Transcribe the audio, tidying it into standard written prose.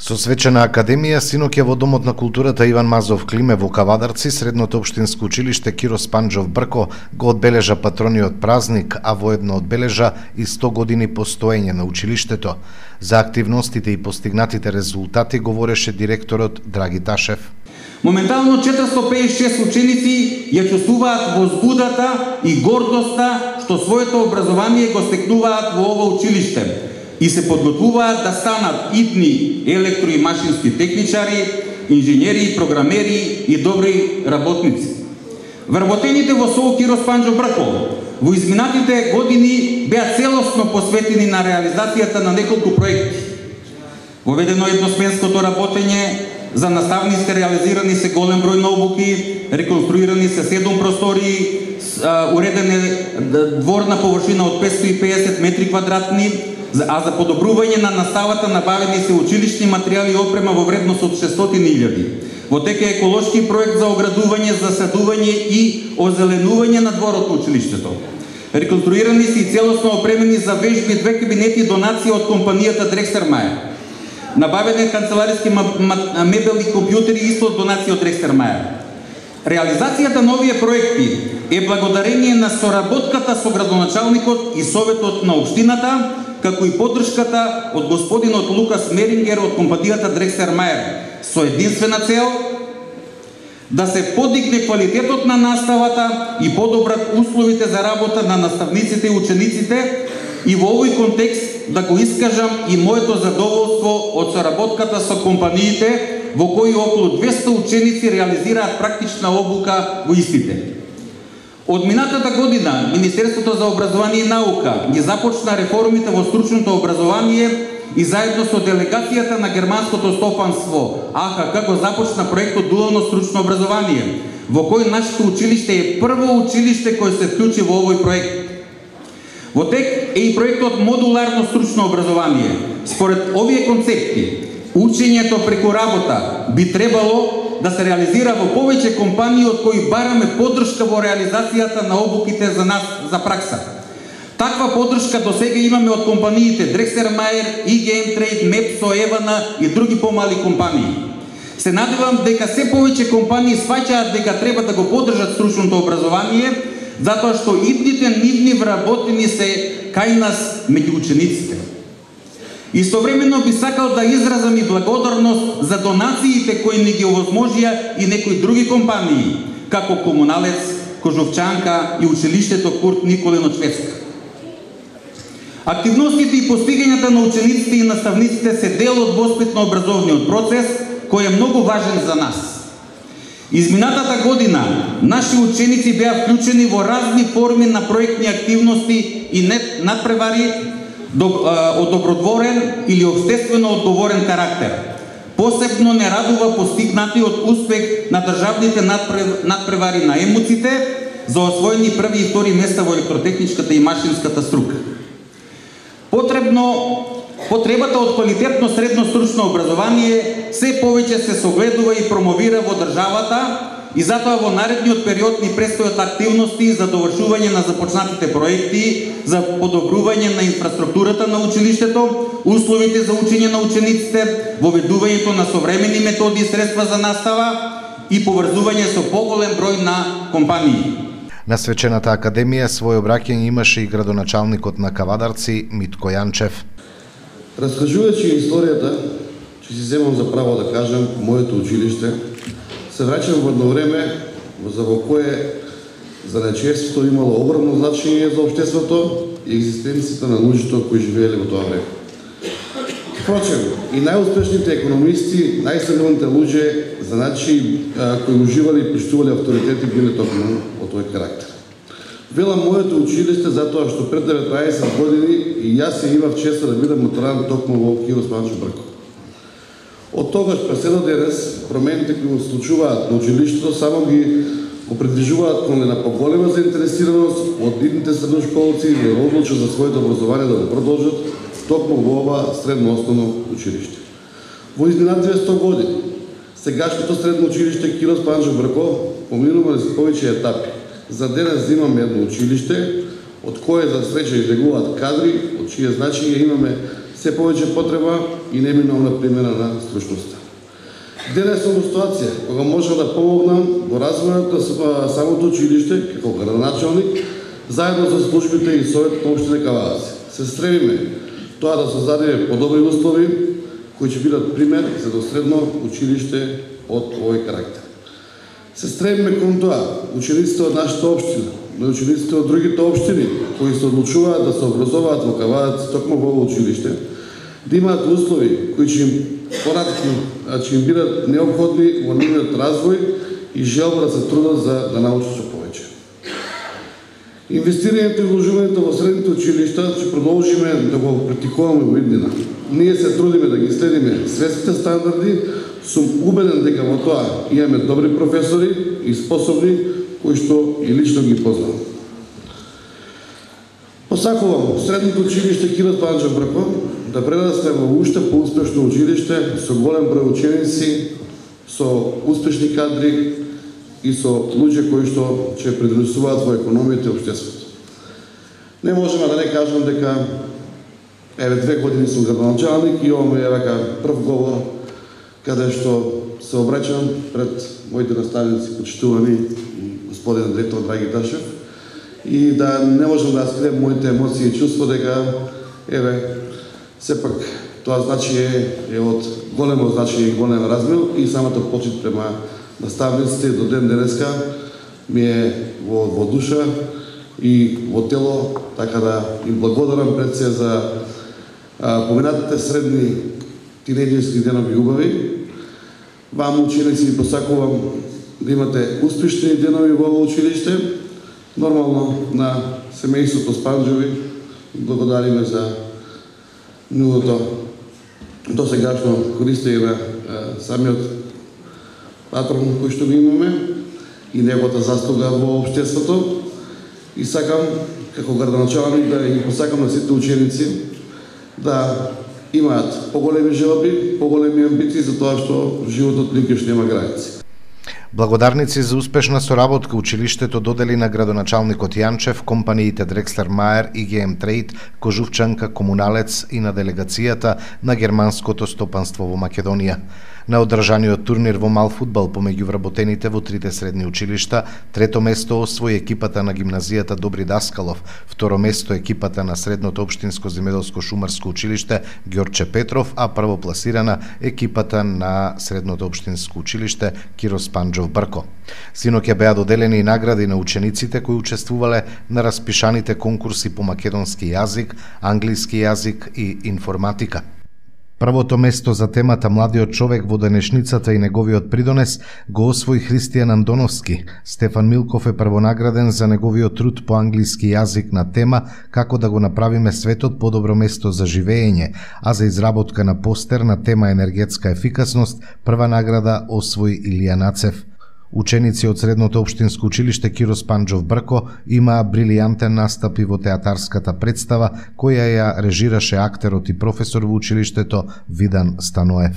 Со свечена академија синоќа во Домот на културата Иван Мазов Климе во Кавадарци, Средното општинско училиште Киро Спанџов Брко го одбележа патрониот празник, а воедно одбележа и 100 години постоење на училиштето. За активностите и постигнатите резултати говореше директорот Драги Ташев. Моментално 456 ученици ја чувствуваат возбудата и гордоста што своето образование го стекнуваат во ова училиште и се подготвуваат да станат идни електро и машински техничари, инженери, програмери и добри работници. Вработените во СОУ Киро Спанџов Брко во изминатите години беа целосно посветени на реализацијата на неколку проекти. Воведено едносменското работење, за наставниците реализирани се голем број на обуки, реконструирани се 7 простории, уреден е дворна површина од 550 метри квадратни, а за подобрување на наставата набавени се училишни материјали и опрема во вредност од 600.000. Во тек е еколошки проект за оградување, засадување и озеленување на дворот на училиштето. Реконструирани се и целосно опремени за вежби 2 кабинети донација од компанијата Дрекстермајер. Набавен е канцелариски мебел и компјутери исто од донација од Дрекстермајер. Реализацијата на овие проекти е благодарение на соработката со градоначалникот и советот на општината, како и поддршката од господинот Лукас Мерингер од компанијата Дрекстермајер, со единствена цел да се подигне квалитетот на наставата и подобрат условите за работа на наставниците и учениците, и во овој контекст да го искажам и моето задоволство од соработката со компаниите, во кои околу 200 ученици реализираат практична обука во истите. Од минатата година Министерството за образование и наука ги започна реформите во стручното образование и заедно со делегацијата на германското стопанство АХК го започна проектот Дуално стручно образование, во кој нашето училиште е прво училиште кој се вклучи во овој проект. Во тек е и проектот Модуларно стручно образование. Според овие концепти, учењето преку работа би требало да се реализира во повеќе компании од кои бараме поддршка во реализацијата на обуките за нас за пракса. Таква поддршка до сега имаме од компаниите Дрекстермајер, ИГМ Трейд, Мепсо, Евана и други помали компании. Се надевам дека се повеќе компании сваќаат дека треба да го поддржат стручното образование, затоа што идните нивни вработени се кај нас меѓу учениците. Истовремено би сакал да изразам и благодарност за донациите кои ни ги овозможија и некои други компании, како Комуналец, Кожовчанка и училиштето Курт Николин од Шведска. Активностите и постигањата на учениците и наставниците се дел од воспитно-образовниот процес, кој е многу важен за нас. Изминатата година наши ученици беа вклучени во разни форми на проектни активности и надпревари од добродворен или општествено одговорен карактер. Посебно не радува постигнатиот успех на државните надпревари на емуците за освоени први и втори места во електротехничката и машинската струка. Потребата од квалитетно средно стручно образование се повеќе се согледува и промовира во државата и затоа во наредниот период ни престојат активности за довршување на започнатите проекти, за подобрување на инфраструктурата на училиштето, условите за учење на учениците, воведувањето на современи методи и средства за настава и поврзување со поголем број на компании. На свечената академија свој обраќање имаше и градоначалникот на Кавадарци Митко Јанчев. Раскажувајќи историјата, че си земам за право да кажам, моето училиште, се враќам во едно време во кое занајчевството имало огромно значење за општеството и екзистенцијата на луѓето кои живееле во тоа време. Впрочем, и најуспешните економисти, најстабилните луѓе, значи кои уживали и поштувале авторитети, биле токму од тој карактер. Велам моето училиште затоа што пред 19 години и јас се имав честа да бидам моторан токму во Киро Спанџов Брко. Од тогаш през едно денес промените кои се случуваат на училиштето само ги опредвижуваат кон една поголема заинтересираност од идните средношколци да се одлучат за своето образование да го продолжат токму во ова средно основно училиште. Во изминативе 100 години сегашното средно училиште Киро Спанџов Брко поминува низ повеќе етапи. За денес имаме едно училиште од кое за среќа излегуваат кадри, од чие значење имаме се повеќе потреба и неминовна примена на стручноста. Денес сум во ситуација кога можам да помогнам во развојот на самото училиште како градоначалник, заедно со службите и советот на општина Кавадарци. Се стремиме тоа да создадеме подобри услови кои ќе бидат пример за средно училиште од овој карактер. Се стремиме кон тоа учениците од нашата општина, но и учениците од другите општини кои се одлучуваат да се образуваат во Кавадарци токму во ово училиште, да имаат услови кои ќе им ќе им бидат неопходни во нивниот развој и желба да се трудат за да научат што повеќе. Инвестирањето и вложувањето во средните училишта ќе продолжиме да го практикуваме во иднина. Ние се трудиме да ги следиме светските стандарди, сум убеден дека во тоа имаме добри професори и способни кои што и лично ги познавам. Посакувам средното училиште Киро Спанџов Брко да прерасне во уште поуспешно училиште со голем број ученици, со успешни кадри и со луѓе кои што ќе придонесуваат во економијата и општеството. Не можеме да не кажам дека 2 години сум градоначалник и ова ми е прв говор каде што се обраќам пред моите наставници, почитувани господин директор Драги Ташев, и да не можам да скрием моите емоции и чувство дека сепак тоа значие е од големо значење и голем размер и самата почит према наставниците до ден денеска ми е во душа и во тело, така да им благодарам пред се за поминатите средни тинејџерски денови убави. Вам ученици ви посакувам да имате успешни денови во ово училиште. Нормално на семејството Спанџови благодариме за неговото досегашно користење на самиот патрон кој што го имаме и неговата заслуга во општеството. И сакам како градоначалник да ги посакам на сите ученици да имаат поголеми желби, поголеми амбиции за тоа што животот никош нема граници. Благодарници за успешна соработка училиштето додели на градоначалникот Јанчев, компаниите Дрекслер Мајер и ГМ Трейд, Кожувчанка, Комуналец и на делегацијата на германското стопанство во Македонија. На одржаниот турнир во мал фудбал помеѓу вработените во трите средни училишта, трето место освои екипата на гимназијата Добри Даскалов, второ место екипата на средното општинско земјоделско шумарско училиште Ѓорче Петров, а првопласирана екипата на средното општинско училиште Киро Спанџов Брко. Синоќа беа доделени и награди на учениците кои учествувале на распишаните конкурси по македонски јазик, англиски јазик и информатика. Првото место за темата Младиот човек во денешницата и неговиот придонес го освои Христијан Андоновски. Стефан Милков е првонаграден за неговиот труд по англиски јазик на тема Како да го направиме светот подобро место за живеење, а за изработка на постер на тема енергетска ефикасност прва награда освои Илија Нацев. Ученици од средното општинско училиште Киро Спанџов Брко имаа брилијантен настап и во театарската представа која ја режираше актерот и професор во училиштето Видан Станоев.